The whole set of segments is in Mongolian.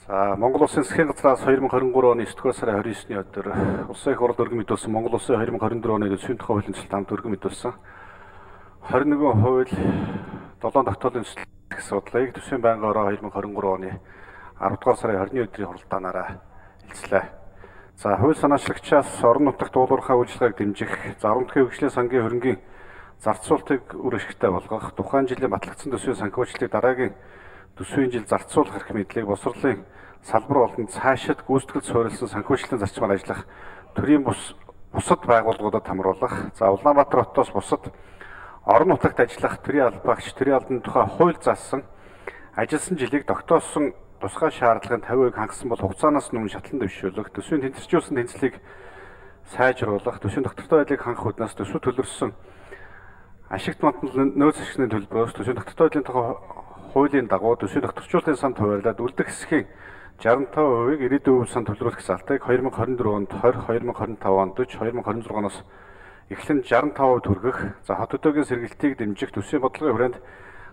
За Монгол Улсын засгийн газраас 2023 оны 9-р сарын 29-ний өдөр Улсын их хурлд өргөн мэдүүлсэн Монгол Улсын 2024 оны төсвийн тухай хуулийн төсөлд хамт өргөн мэдүүлсэн 21 хууль 7 тогтоолын төсөл асуудлыг төсвийн байнгын ороо 2023 оны 10-р сарын 20-ны өдрийн хуралдаанаараа хэлцлээ. За хууль санаачлагчаас орон нутагт уулуурхай үйлчилгээг дэмжих, зарамтгын хөгжлийн сангийн хөрөнгийн зарцуулалтыг үр ашигтай болгох, тухайн жилийн батлагдсан төсвийн санхүүжилтийг дараагийн төсвийн жил зарцуулах эрх мэдлийг босрлын салбар болонд цаашид гүйцэтгэл суурилсан санхүүжилтийн зарчмаар ажиллах төрийн бусад байгууллагуудад хамруулах. За Улаанбаатар хотоос бусад орон нутагт ажиллах төрийн албаагч төрийн албаны тухай хууль заасан ажилласан жилийг тогтоосон тусгай шаардлагын 50% хангасан бол хугацаанаас өмнө шатлан дэвшүүлэх, төсвийн тэнцвэржүүлсэн тэнцлийг сайжруулах, төсвийн доктортой байдлыг хангах үүднээс төсөв төлөрсөн ашигт мандал нөөц ашигны төлбөрөөс төсвийн доктортой байдлын тухай хуулийн дагуу төсвийн докторчуулалтын санд хуваарлаад үлдэх хэсгийн 65%-ийг ирээдүйн үйл санд төлрүүлэх залтыг 2024 онд 20, 2025 онд 40, 2026 оноос эхлэн 65% хүргэх, за хот өдөөгийн сэргилтийг дэмжих, төсвийн бодлогын хүрээнд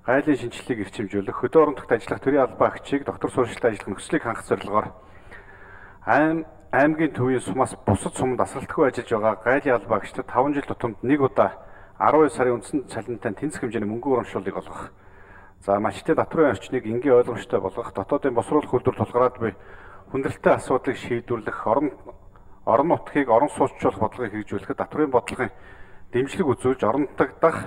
гайлын шинжилгээг эрчимжүүлэх, хөдөө орон нутагт ажиллах төрийн албаагчийг доктор сурвалжлалт ажиллах нөхцөлийг хангах зорилгоор аймгийн төвийн сумаас бусад сумд асралтгүй ажиллаж байгаа гайлын албаагчдад 5 жил тутамд нэг удаа 12 сарын үндсэн цалинтай тэнцэх хэмжээний мөнгө урамшууллыг олгох. За малчтын татврын орчныг энгийн ойлгомжтой болгох, дотоодын босруулах үйлдвэр тулгараад буй хүндрэлтэй асуудлыг шийдвэрлэх, орон нутгийг орон сууцчлуулах бодлогыг хэрэгжүүлэхэд татврын бодлогын дэмжлэг үзүүлж орон нутагт дах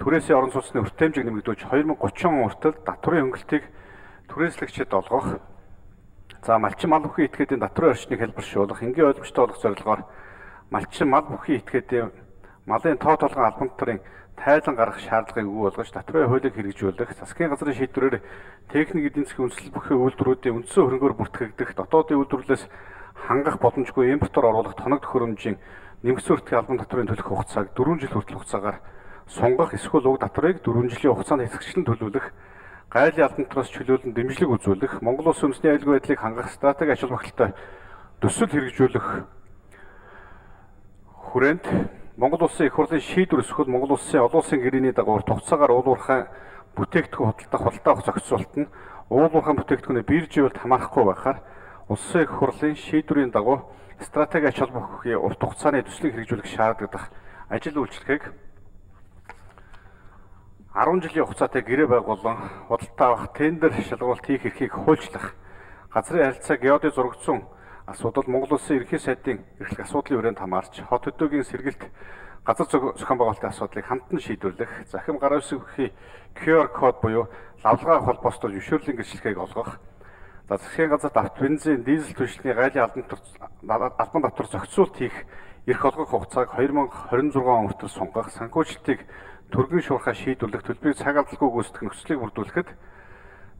түрээсийн орон сууцны өртөмжийг нэмэгдүүлж 2030 он хүртэл татврын хөнгөлтийг түрээслэгчид олгох. За малчин мал бүхий этгээдийн татврын орчныг хэлбэршүүлэх, энгийн ойлгомжтой болгох зорилгоор малчин мал бүхий этгээдийн малын тоо толгойн албан татврын тайлан гаргах шаардлагыг өгөө болгож татврын хуулийг хэрэгжүүлэх, засгийн газрын шийдвэрээр техник эдийн засгийн үндэслэл бүхий үйлдвэрүүдийн үндсэн хөрөнгөөр бүртгэгдэх, дотоодын үйлдвэрлэлээс хангах боломжгүй импортоор оруулах тоног төхөөрөмжийн нэмэгдсэн өртгийн албан татврын төлөх хугацааг 4 жил хүртэл хугацаагаар сунгах, эсвэл уг татврыг 4 жилийн хугацаанд хэсэгчлэн төлөвлөх, гайлын албан татвараас чөлөөлөн дэмжлэг үзүүлэх, Монгол Улс үндэсний аюулгүй байдлыг хангах стратеги ач холбогдолтой төсөл хэрэгжүүлэх хүрээнд Монгол Улсын их хурлын шийдвэр эсвэл Монгол Улсын олон улсын гэрээний дагуур тугацаагаар уулуурхай бүтээгдэхүүн худалдаа авах зохицуулалт нь уулуурхай бүтээгдэхүүнээ бирживэлд хамаарахгүй байхаар Улсын их хурлын шийдвэрийн дагуу стратеги ач холбогдохын урт хугацааны төслийг хэрэгжүүлэх шаардлагатай ажил үйлчлэгийг 10 жилийн хугацаатай гэрээ байгуулан худалдаа авах тендер шалгуулалт хийх эрхийг хуульчлах, газрын харилцаа геодын зурагдсан асуудал Монгол Улсын ерөнхий сайдын эрхлэх асуудлын хүрээнд хамаарч хот өдөөгийн сэргэлт газар зохион байгуулалтын асуудлыг хамтан шийдвэрлэх, захим гараа үсгэхийн QR код буюу лавлгаа холбоостой зөвшөөрлийн гэрчлэгийг олгох, за засгийн газарт авто бензин, дизель түвшний гайлын албан татвар зохицуулалт хийх эрх олгох хугацааг 2026 он хүртэл сунгах, санхүүжилтийг түргэн шуурхай шийдвэрлэх, төлбөрийг цаг алдалгүй гүйцэтгэх нөхцөлийг бүрдүүлэхэд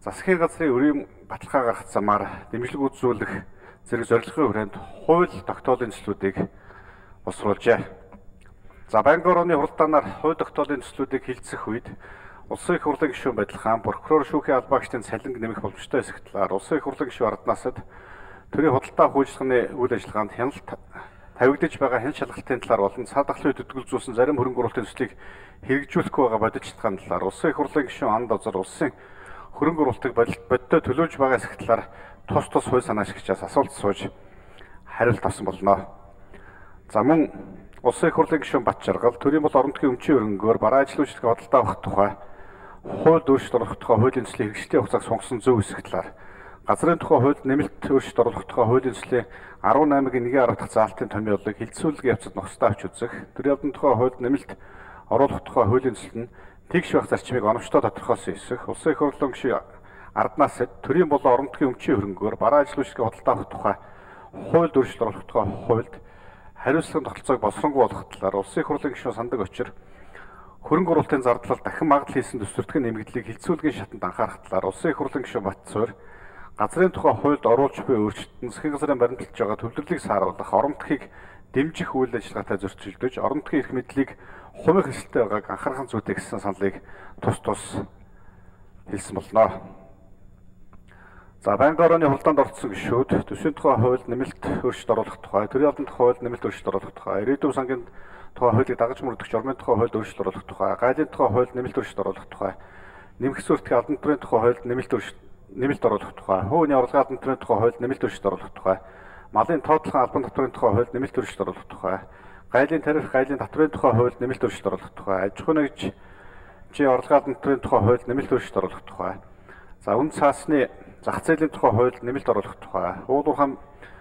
засгийн газрын өрийн баталгаа гаргах замаар дэмжлэг үзүүлэх зэрэг зорилгын хүрээнд хууль тогтоолын төслүүдийг босруулжээ. За байнгын орооны хуралдаанаар хууль тогтоолын төслүүдийг хилцэх үед Улсын их хурлын гишүүн Бадлахаан, прокурор шүүхийн албаагчдын цалинг нэмэх боломжтой хэсэг талаар Улсын их хурлын гишүүн Арднасад төрийн худалдаа хуучлахны үйл ажиллагаанд хяналт тавигдаж байгаа хэн шалгалтын талаар болон цаад ахлын төдөлгөлзүүлсэн зарим хөрөнгө оруулалтын төслийг хэрэгжүүлэхгүй байгаа бодитчилгааны талаар Улсын их хурлын гишүүн Ан Дозор улсын хөрөнгө оруулалтыг бодиттой төлөөж байгаа хэсэг талаар тус хууль санаачлагчаас асуулт сууж хариулт авсан болно. За мөн Улсын их хурлын гишүүн Бат Жаргал төрийн бол орон нутгийн өмчийн хөрөнгөөр бараа ажил үйлчлэгээ худалдаа авах тухай хууль өөрчлөлт оруулах тухай хуулийн төслийн хэрэгжлийн хугацааг сунгасан зөв хэсэг талаар газрын тухай хуульд нэмэлт өөрчлөлт оруулах тухай хуулийн төслийн 18-гийн 1-10 дахь заалтын томьёолыг хилцүүлэг явцад нухацтай авч үзэх, төрийн албаны тухай хуульд нэмэлт оруулах тухай хуулийн төсөл нь тэгш байх зарчмыг оновчтой тодорхойлсон хэсэг, Улсын их хурлын гишүүн Арднасад төрийн болон орон нутгийн өмчийн хөрөнгөөр бараа ажил үйлчлэгээ худалдаа авах тухай хуульд өөрчлөлт оруулах тухай хуульд хариуцлагын тогтолцоог боловсронгуй болгох талаар Улсын их хурлын гишүүн Сандаг Очир хөрөнгө оруулалтын зардлал дахин магадлал хийсэн төсвөртгөн нэмэгдлийг хилцүүлгийн шатанд анхаарах талаар Улсын их хурлын гишүүн Бат Цуур газрын тухай хуульд оруулж буй өөрчлөлт нь засгийн газрын баримталж байгаа төвлөрлийг сааруулах, орон нутгийг дэмжих үйл ажиллагаатай зөрчилдөж, орон нутгийн эрх мэдлийг хувийн хэсэлтэй байгааг анхаарах зүйтэй гэсэн саналыг тус хэлсэн болно. За байнгын орооны хуралдаанд оролцсон гишүүд төсвийн тухай хуульд нэмэлт өөрчлөлт оруулах тухай, төрийн албаны тухай хуульд нэмэлт өөрчлөлт оруулах тухай, ирээдүйн сангийн тухай хуулийг дагаж мөрдөгч ормын тухай хуульд өөрчлөлт оруулах тухай, гайлын тухай хуульд нэмэлт өөрчлөлт оруулах тухай, нэмэгдсэн өртгийн албан татврын тухай хуульд нэмэлт нэмэлт оруулах тухай, хууны орлогын албан татврын тухай хуульд нэмэлт өршөлт оруулах тухай, малын тоотлогын албан татврын тухай хуульд нэмэлт өршөлт оруулах тухай, гайлын тариф, гайлын татврын тухай хуульд нэмэлт өршөлт оруулах тухай, аж ахуй нэгжийн орлогын албан татврын тухай хуульд нэмэлт өршөлт оруулах тухай. За үн цаасны зах зээлийн тухай хуульд нэмэлт оруулах тухай, уул уурхай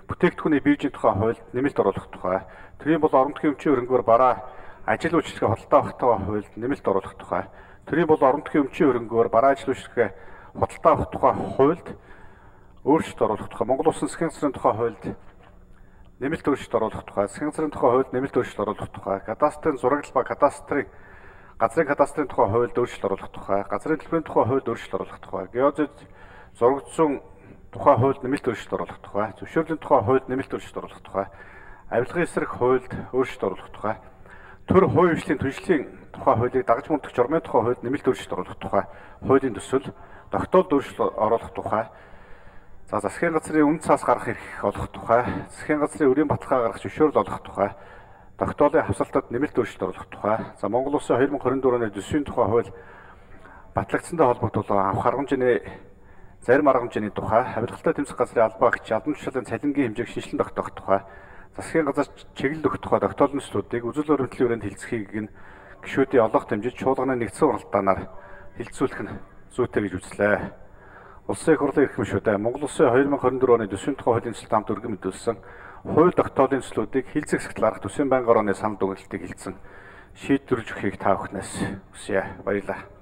бүтээгдэхүүний биржийн тухай хуульд нэмэлт оруулах тухай, төрийн бол орон нутгийн өмчийн хөрөнгөөр бараа ажил үйлчлэгээ худалдаа авах тухай хуульд нэмэлт оруулах тухай, төрийн бол орон нутгийн өмчийн хөрөнгөөр бараа ажил үйлчлэгээ худалдаа авах тухай хуульд өөрчлөлт оруулах тухай, Монгол Улсын засгийн газрын тухай хуульд нэмэлт өөрчлөлт оруулах тухай, засгийн газрын тухай хуульд нэмэлт өөрчлөлт оруулах тухай, кадастрын зурагл ба газрын кадастрын тухай хуульд өөрчлөлт оруулах тухай, газрын төлбөрийн тухай хуульд өөрчлөлт оруулах тухай, геозид зурагдсан тухай хуульд нэмэлт өөрчлөлт оруулах тухай, зөвшөөрлийн тухай хуульд нэмэлт өөрчлөлт оруулах тухай, авилгын эсрэг хуульд өөрчлөлт оруулах тухай, төр хувийн хвшлийн түншлэлийн тухай хуулийг дагаж мөрдөх журмын тухай хуульд нэмэлт өөрчлөлт оруулах тухай, хуулийн төсөл, тогтоолд өөрчлөлт оруулах тухай, за засгийн газрын үн цаас гаргах эрх олох тухай, засгийн газрын өрийн баталгаа гаргах зөвшөөрөл олох тухай, тогтоолын хавсалтад нэмэлт өөрчлөлт оруулах тухай, за Монгол Улсын 2024 оны төсвийн тухай хууль батлагдсантай холбогдуулан авах арга хэмжээний зарим арга хэмжээний тухай, авилгалтай тэмцэх газрын албан агч албан тушаалын цалингийн хэмжээг шинжилэн тогтоох тухай, засгийн газар чиглэл өгөх тухай тогтоолын төслүүдийг үзэл баримтлалын хүрээнд хилцэхийг нь гишүүдийн олонх дэмжиж чуулганы нэгдсэн уралдаанаар хилцүүлэх нь зүйтэй гэж үзлээ. Улсын их хурлын эрхэм шүдэ Монгол Улсын 2024 оны төсвийн тухай хуулийн төсөлд хамт өргөн мэдүүлсэн хууль тогтоолын төслүүдийг хилцэх захидал гаргах төсвийн байнгын орооны санал дүгнэлтийг хилцэн шийдвэрлэж өгөхийг та бүхнээс хүсье. Баярлалаа.